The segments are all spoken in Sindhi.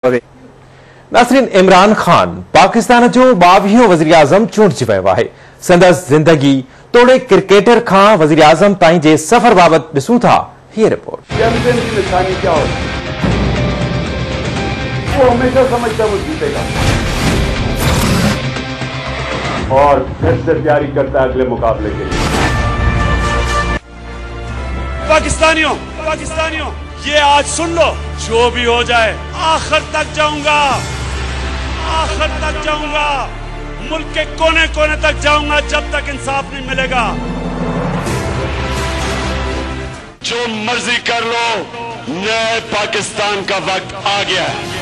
پوي. ناظرين عمران خان پاڪستان جو ٻاويهون وزيراعظم چونڊجي ويو آهي. سندس زندگي توڙي ڪرڪيٽر کان وزيراعظم تائين جي سفر بابت ڏسون ٿا هيء رپورٽ. چيمپيئن ڪي نشاني ڪيا هوتي هي؟ وو هميشه سمجهتا هي وو جيتيگا اور ڦر سي تياري ڪرتا هي اگلي مقابلي ڪي ليي. پاڪستانيو پاڪستانيو يه آج سن لو جو ڀي هو جائي آخر تڪ جائون گا آخر تڪ جائون گا ملڪ ڪي ڪوني ڪوني تڪ جائون گا جب تڪ انصاف نهين ملي گا. جو مرضي ڪر لو نئي پاڪستان ڪا وقت آ گيا هي.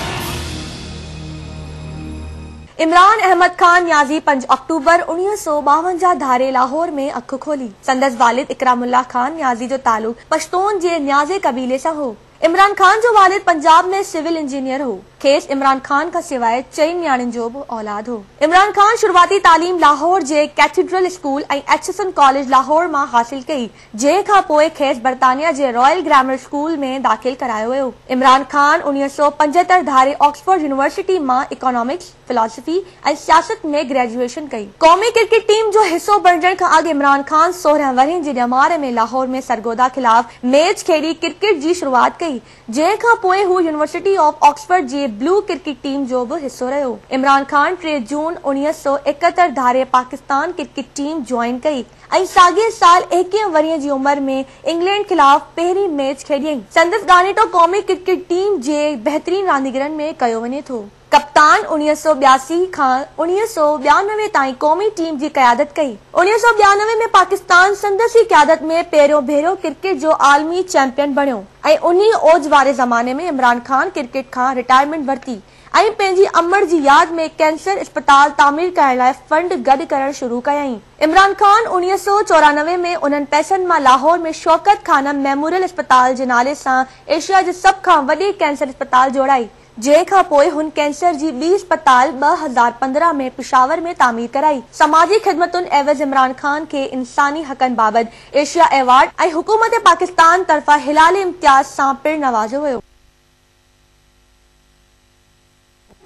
عمران احمد خان نيازي پنج آڪٽوبر 1952 ڌاري لاهور ۾ اک کولي. سندس والد اڪرام الله خان نيازي جو تعلق پشتون جي نيازي قبيلي سان هو. عمران خان جو والد پنجاب ۾ سول انجنيئر هو. کيس عمران خان کان سواء چئن نياڻين جو به اولاد هو. عمران خان شروعاتي تعليم لاهور جي ڪيٿيڊرل اسڪول ۽ ايڇسن ڪاليج لاهور مان حاصل ڪئي، جنهن کان پوء کيس برطانيا جي رائل گرامر اسڪول ۾ داخل ڪرايو ويو. عمران خان 1975 ڌاري آڪسفورڊ يونيورسٽي مان اڪانامڪس، فلاسفي ۽ سياست ۾ گريجوئيشن ڪئي. قومي ڪرڪيٽ ٽيم جو حصو بڻجڻ کان اڳ عمران خان 16 ورهين جي ڄمار ۾ لاهور ۾ سرگوڌا خلاف ميچ کيڏي ڪرڪيٽ جي شروعات ڪئي، جنهن کان پوء هو يونيورسٽي آف آڪسفورڊ جي بلو ڪرڪيٽ ٽيم جو به حصو رهيو. عمران خان ٽي جون 1971 ڌاري پاڪستان ڪرڪيٽ ٽيم جوائن ڪئي. ۽ ساڳئي سال ايڪيهه ورهين جي عمر ۾ انگلينڊ خلاف پهرين ميچ کيڏيائين. سندس ڳاڻيٽو قومي ڪرڪيٽ ٽيم جي بهترين رانديگرن ۾ ڪيو وڃي ٿو. ڪپتان 1982 کان 1992 تائين قومي ٽيم جي قيادت ڪئي. 1992 ۾ پاڪستان سندس ئي قيادت ۾ پهريون ڀيرو ڪرڪيٽ جو عالمي چيمپيئن بڻيو ۽ انهي اوج واري زماني ۾ عمران خان ڪرڪيٽ کان رٽائرمينٽ ورتي ۽ پنهنجي امڙ جي ياد ۾ ڪينسر اسپتال تعمير ڪرڻ لاء فنڊ گڏ ڪرڻ شروع ڪيائين. عمران خان 1994 ۾ انهن پئسن مان لاهور ۾ شوڪت خانم ميموريل اسپتال جي نالي سان ايشيا جي سڀ کان وڏي ڪينسر اسپتال جوڙائي، جنهن کان پوء هن ڪينسر جي ٻي اسپتال 2015 ۾ پشاور ۾ تعمير ڪرائي. سماجي خدمتن عيوض عمران خان کي انساني حقن بابت ايشيا ايوارڊ ۽ حڪومت پاڪستان طرفان هلال امتياز سان پڻ نوازيو ويو.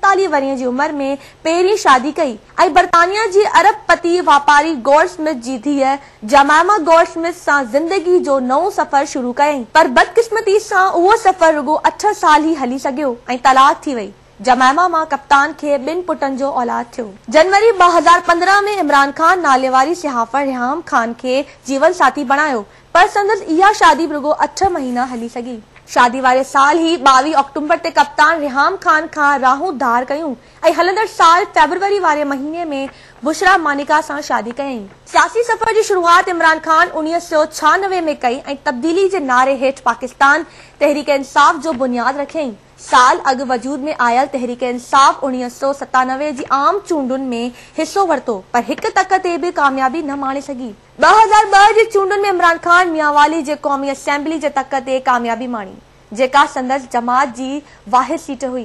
47 ورهين جي عمر ۾ پهرين شادي ڪئي ۽ برطانيا جي ارب پتي واپاري گورڊ سمٿ جي ڌيء جمائما گورڊ سمٿ سان زندگي جو نئون سفر شروع ڪيائين پر بدقسمتي سان اهو سفر رڳو اٺ سال ئي هلي سگهيو ۽ طلاق ٿي وئي. جمائما مان ڪپتان کي ٻن پٽن جو اولاد ٿيو. جنوري 2015 ۾ عمران خان ناليواري صحافڻ ريحام خان کي جيون ساٿي بڻايو پر سندس اها شادي به رڳو اٺ مهينا هلي سگهي. شادي واري سال ئي 22 آڪٽومبر تي ڪپتان ريحام خان کان راهون ڌار ڪيون ۽ هلندڙ سال فيبروري واري مهيني ۾ بشريٰ مانيڪا سان شادي ڪيائين. سياسي سفر جي شروعات عمران خان 1996 ۾ ڪئي ۽ تبديلي جي نعري هيٺ پاڪستان تحريڪ انصاف جو بنياد رکيائين. سال اڳ وجود ۾ آيل تحريڪ انصاف 1997 جي عام چونڊن ۾ حصو ورتو پر هڪ تڪ تي به ڪاميابي نه ماڻي سگهي. 2002 جي چونڊن ۾ عمران خان ميانوالي جي قومي اسيمبلي جي تڪ تي ڪاميابي ماڻي، جيڪا سندس جماعت جي واحد سيٽ هئي.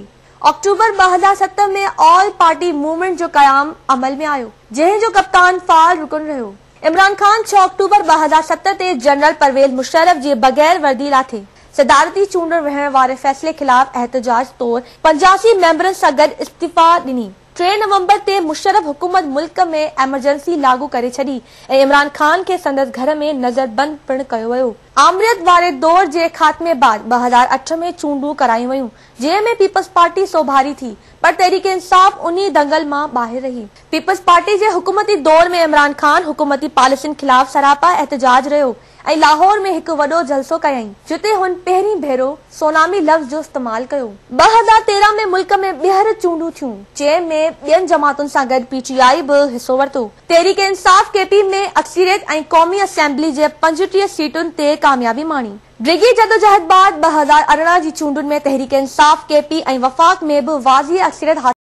آڪٽوبر 2007 ۾ آل پارٽي موومينٽ جو قيام عمل ۾ آيو، جنهن جو ڪپتان فعال رڪن رهيو. عمران خان ڇهه آڪٽوبر 2007 تي جنرل پرويز مشرف جي بغير وردي لاٿي صدارتي چونڊ وڙهڻ واري فيصلي خلاف احتجاج طور 85 ميمبرن سان گڏ استعيفيٰ ڏني. ٽي نومبر تي مشرف حڪومت ملڪ ۾ ايمرجنسي لاڳو ڪري ڇڏي ۽ عمران خان کي سندس گهر ۾ نظربند پڻ ڪيو ويو. آمريت واري دور جي خاتمي بعد 2008 ۾ چونڊون ڪرايون ويون، جنهن ۾ پيپلز پارٽي سوڀاري ٿي، پر تحريڪ انصاف انهي دنگل مان ٻاهر رهي. پيپلز پارٽي جي حڪومتي دور ۾ عمران خان حڪومتي پاليسين خلاف سراپا احتجاج رهيو ۽ لاهور ۾ هڪ وڏو جلسو ڪيائين، جتي هن پهرين ڀيرو سونامي لفظ جو استعمال ڪيو. 2013 ۾ ملڪ ۾ ٻيهر چونڊون ٿيون، جنهن ۾ ٻين جماعتن سان گڏ پي ٽي آء به حصو ورتو. تحريڪ انصاف ڪي پي ۾ اڪثريت ۽ قومي اسيمبلي جي 35 سيٽن تي ڪاميابي ماڻي. ڊگهي جدوجهد بعد 2018 جي چونڊن ۾ تحريڪ انصاف ڪي پي ۽ وفاق ۾ به واضح اڪثريت حاصل.